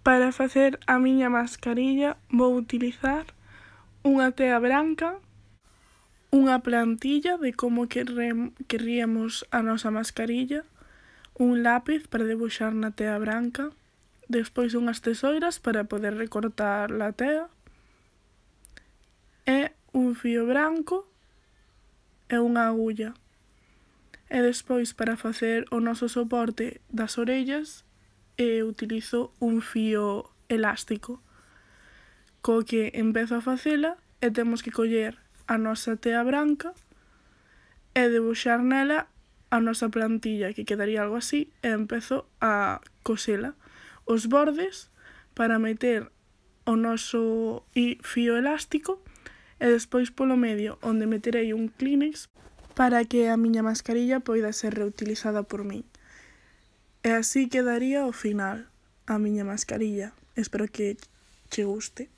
Para facer a miña mascarilla vou utilizar unha tea branca, unha plantilla de como querríamos a nosa mascarilla, un lápiz para debuxar na tea branca, despois unhas tesoiras para poder recortar a tea, e un fío branco e unha agulla. E despois para facer o noso soporte das orellas utilizo un fío elástico, co que empezo a facela e temos que coller a nosa tea branca e debuxar nela a nosa plantilla, que quedaría algo así, e empezo a cosela. Os bordes para meter o noso fío elástico e despois polo medio onde meterei un Kleenex para que a miña mascarilla poida ser reutilizada por min. E así quedaría ao final a miña mascarilla. Espero que che guste.